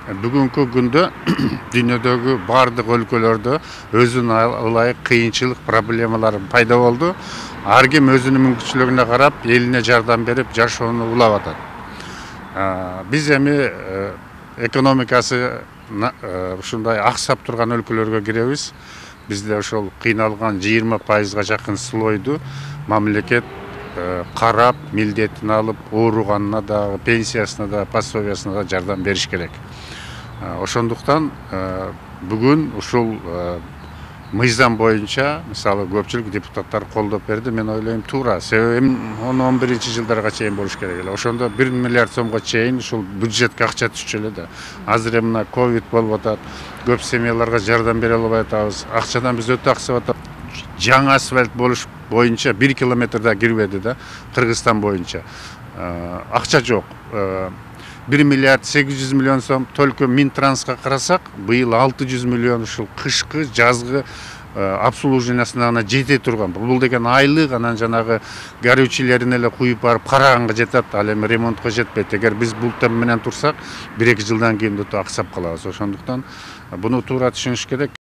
Бүгүнкү күндө дүйнөдөгү бардык өлкөлөрдө өзүнө ылайык кыйынчылык проблемалар пайда болду. Ар ким өзүнүн мүмкүнчүлүгүнө карап элине жардам берип жашоону улап атат. Биз эми экономикасы ушундай аксап турган өлкөлөргө киребиз. Бизде ошол кыйналган 20%га жакын слойду мамлекет карап, милдетин алып, ооруганына да, пенсиясына да, пособиясына да жардам бериш керек. Ошондуктан бүгүн ушул мыйзам боюнча мисалы көпчүлүк депутаттар колдоп берди. Мен ойлойм туура. Себеби 10-11-жылдарга чейин болуш керек эле. Ошондо 1 миллиард сомго чейин ушул бюджетке акча түшчү эле да. Азыр мына ковид болуп атат. Көп семьяларга жардам бере албай атабыз. Акчадан биз өтө аксап атат. Жаңы асфальт болуш боюнча 1 километр да кирбеди да, Кыргызстан боюнча. Акча жок. 1 миллиард 800 миллион сом только Минтрансқа карасак, быйыл 600 миллион ушул кышкы, жазгы обслуживаниясына гана жете турган. Бул деген айлык, анан жанагы горючийлерин эле куюп барып караганга жетет, ал эми ремонтко жетпейт. Эгер биз бул темп менен турсак, 1-2 жылдан кийин өтө аксап калабыз. Ошондуктан буну туура түшүнүш керек.